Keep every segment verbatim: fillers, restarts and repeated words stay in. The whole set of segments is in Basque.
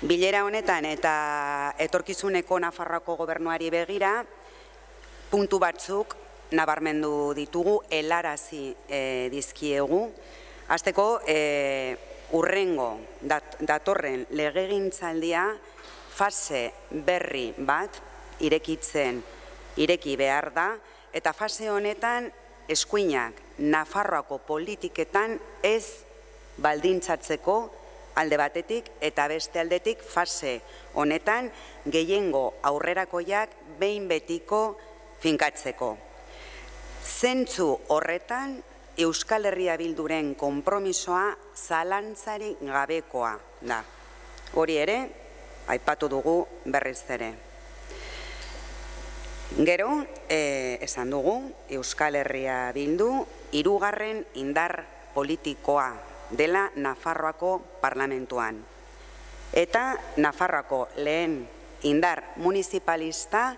Bilera honetan eta etorkizuneko Nafarroako gobernuari begira, puntu batzuk nabarmendu ditugu, helarazi e, dizkiegu. Hasteko, e, urrengo dat, datorren legegintzaldia fase berri bat irekitzen ireki behar da, eta fase honetan eskuinak Nafarroako politiketan ez baldintzatzeko alde batetik eta beste aldetik fase honetan gehiengo aurrerakoiak behin betiko finkatzeko. Zentzu horretan Euskal Herria Bilduren konpromisoa zalantzarik gabekoa da. Hori ere, aipatu dugu berriz ere. Gero, eh, esan dugu, Euskal Herria Bildu hirugarren indar politikoa dela Nafarroako parlamentuan. Eta Nafarroako lehen indar municipalista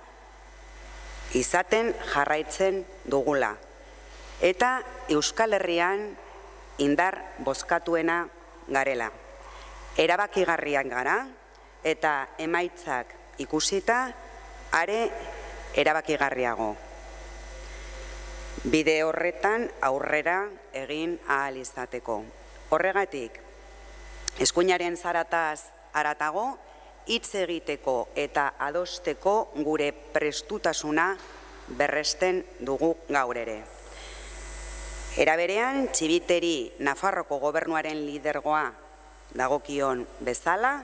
izaten jarraitzen dugula. Eta Euskal Herrian indar bozkatuena garela. Erabakigarriak gara eta emaitzak ikusita are erabakigarriago. Bide horretan aurrera egin ahal izateko. Horregatik, eskuinaren zarataz haratago, hitz egiteko eta adosteko gure prestutasuna berresten dugu gaur ere. Era berean, Txibiteri Nafarroko gobernuaren lidergoa dagokion bezala,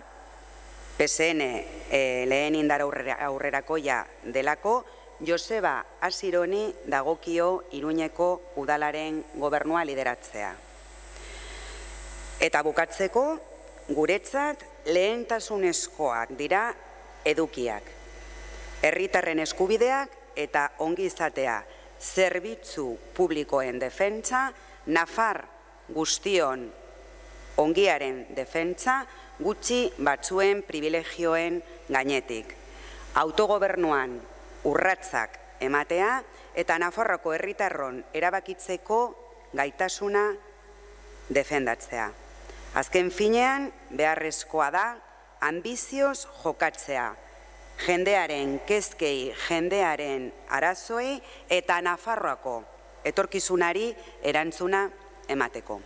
P S N e, lehen indar aurrerakoia delako, Joseba Asironi dagokio Iruñeko udalaren gobernua lideratzea. Eta bukatzeko, guretzat lehentasunezkoak dira edukiak. Herritarren eskubideak eta ongizatea, zerbitzu publikoen defentsa, Nafar guztion ongiaren defentsa, gutxi batzuen privilegioen gainetik. Autogobernuan urratsak ematea eta Nafarroko herritarron erabakitzeko gaitasuna defendatzea. Azken finean, beharrezkoa da, ambizioz jokatzea, jendearen kezkei, jendearen arazoei eta Nafarroako etorkizunari erantzuna emateko.